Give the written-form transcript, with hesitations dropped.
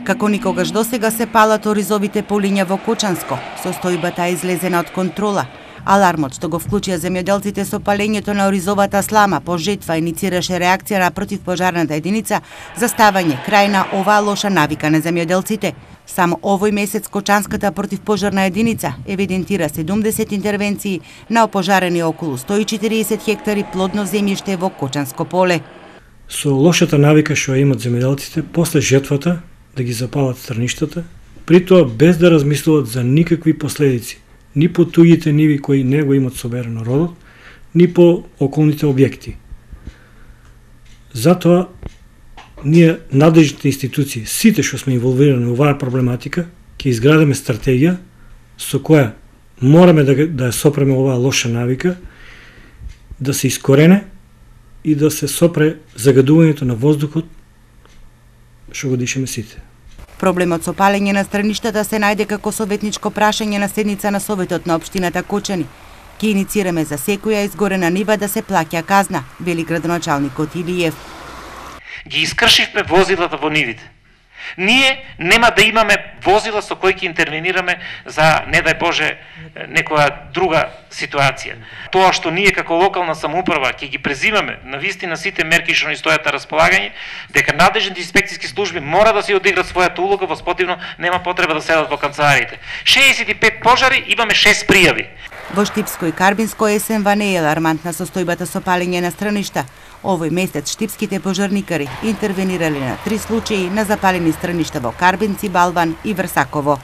Како никогаш досега се палат оризовите полиња во Кочанско. Состојбата е излезена од контрола. Алармот што го вклучија земјоделците со палењето на оризовата слама по жетва иницираше реакција на противпожарната единица за ставање крај на оваа лоша навика на земјоделците. Само овој месец Кочанската противпожарна единица евидентира 70 интервенции на опожарени околу 140 хектари плодно земјиште во Кочанско поле. Со лошата навика што имат земјоделците после жетвата да ги запалат стрништата, при тоа без да размислуваат за никакви последици, ни по туѓите ниви кои не го имат соберено родот, ни по околните објекти. Затоа ние, надлежните институции, сите што сме инволвирани во оваа проблематика, ќе изградиме стратегија со која мораме да ја сопреме оваа лоша навика, да се искорене и да се сопре загадувањето на воздухот што го дишеме сите. Проблемот со палење на страништата се најде како советничко прашање на седница на Советот на општината Кочани. Ке иницираме за секоја изгорена нива да се плаќа казна, вели градоначалникот Илиев. Ги искршивме возилата во нивите. Ние нема да имаме возила со кои ќе интервенираме за, не дај Боже, некоја друга ситуација. Тоа што ние како локална самоуправа ќе ги презимаме на вистина сите мерки што ни стојат на располагање, дека надлежните инспекциски служби мора да се одиграат својата улога, во спротивно нема потреба да седат во канцелариите. 65 пожари, имаме 6 пријави. Во Штипско и Карбинско есенва не е алармантна состојбата со палење на страништа. Овој месец штипските пожарникари интервенирале на 3 случаи на запалени страништа во Карбинци, Балван и Врсаково.